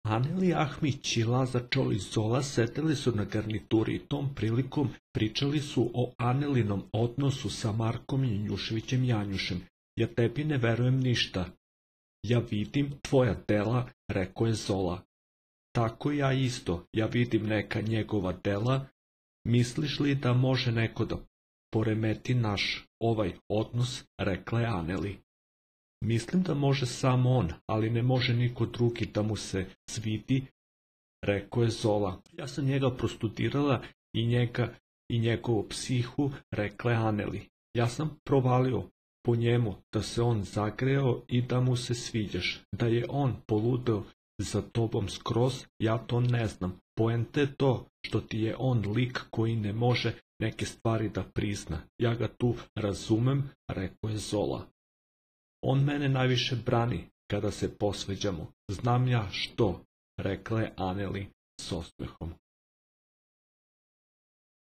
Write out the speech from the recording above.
Aneli, Ahmić i Laza Čolić Zola sedeli su na garnituri i tom prilikom pričali su o Anelinom odnosu sa Markom Janjuševićem Janjušem. Ja tebi ne verujem ništa. Ja vidim tvoja dela, rekao je Zola. Tako ja isto, ja vidim neka njegova dela. Misliš li da može neko da poremeti naš ovaj odnos, rekla je Aneli. Mislim da može samo on, ali ne može niko drugi da mu se svidi, rekao je Zola. Ja sam njega prostudirala i njega i njegovu psihu, rekla je Aneli. Ja sam provalio po njemu da se on zagreo i da mu se sviđaš, da je on poludeo za tobom skroz, ja to ne znam. Poenta je to što ti je on lik koji ne može neke stvari da prizna. Ja ga tu razumem, rekao je Zola. On mene najviše brani kada se posveđamo. Znam ja što, rekla je Aneli s osmehom.